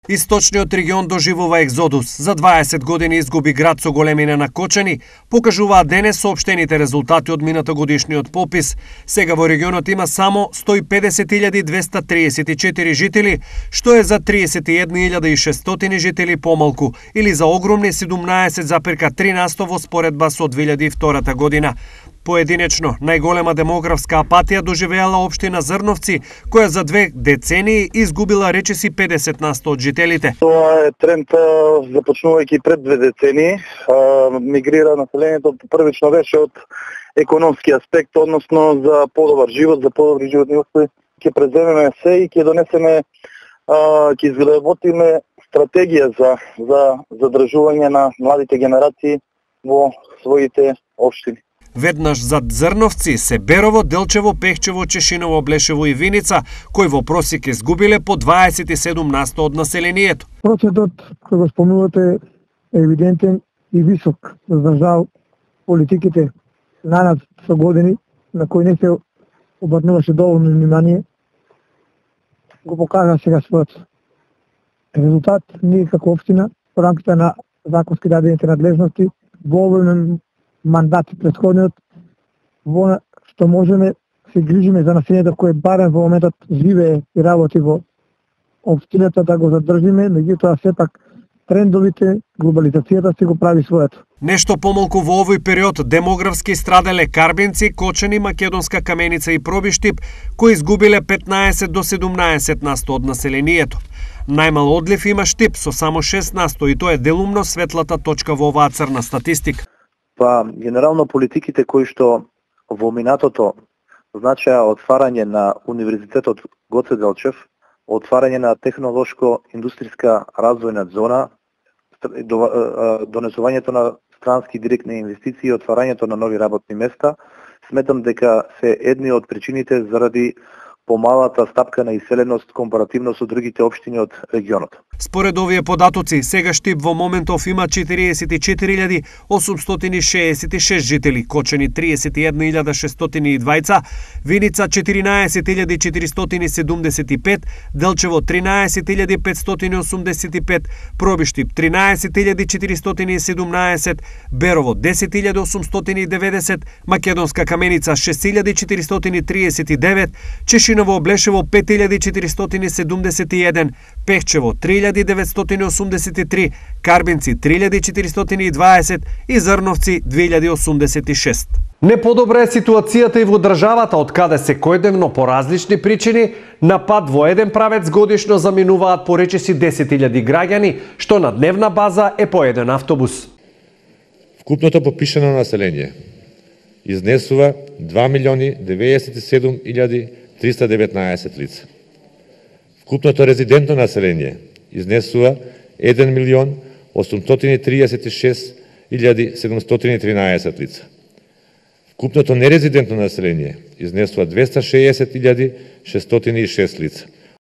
Источниот регион доживува екзодус. За 20 години изгуби град со големина на кочани, покажуваат денес соопштените резултати од минатогодишниот попис. Сега во регионот има само 150.234 жители, што е за 31.600 жители помалку, или за огромни 17,3% во споредба со 2002 година. Поединечно, најголема демографска апатија доживеала општина Зрновци, која за 2 децении изгубила речиси 50% од жителите. Тоа е тренд започнувајќи пред 2 децении. Мигрира населението првично беше од економски аспект, односно за подобар живот, за подобри животни услови. Ќе преземеме се и ќе донесеме, ќе изработиме стратегија за задржување на младите генерации во своите општини. Веднаш зад Зрновци се Берово, Делчево, Пехчево, Чешиново, Блешево и Виница, кои во просек изгубиле по 27% од населението. Процентот кој го спомнувате е евидентен и висок. За жал, политиките на нас со години, на кои не се обрнуваше доволно внимание, го покажа сега својот резултат. Ние како општина, во рамките на законски дадените надлежности, во овој мандат претходниот, во што можеме се грижиме за населението кое барем во моментот живее и работи во општината, да го задржиме, меѓутоа сепак трендовите, глобализацијата се го прави своето. Нешто помалку во овој период демографски страделе Карбинци, Кочани, Македонска Каменица и Пробиштип, кои изгубиле 15 до 17% од населението. Најмал одлив има Штип со само 6% и тоа е делумно светлата точка во оваа црна статистика. Па, генерално политиките кои што во минатото значеа отварање на Универзитетот Гоце Делчев, отварање на технолошко-индустријска развојна зона, донесувањето на странски директни инвестиции и отварањето на нови работни места, сметам дека се едни од причините заради помалата стапка на иселеност компаративно со другите општини од регионот. Според овие податоци, сега Штип во моментов има 44.866 жители, Кочани 31.602, Виница 14.475, Делчево 13.585, Пробиштип 13.417, Берово 10.890, Македонска Каменица 6.439, Чешиново, Блешево 5.471, Пехчево 3.983, Карбинци 3.420 и Зрновци 2.086. Не подобра е ситуацијата и во државата, од каде се секојдневно по различни причини на пат во еден правец годишно заминуваат по речиси 10.000 граѓани, што на дневна база е по еден автобус. Вкупното попишано население изнесува 2.097.319 лица. Вкупното резидентно население изнесува 1.836.713 лица. Вкупното нерезидентно население изнесува 260.606 лица.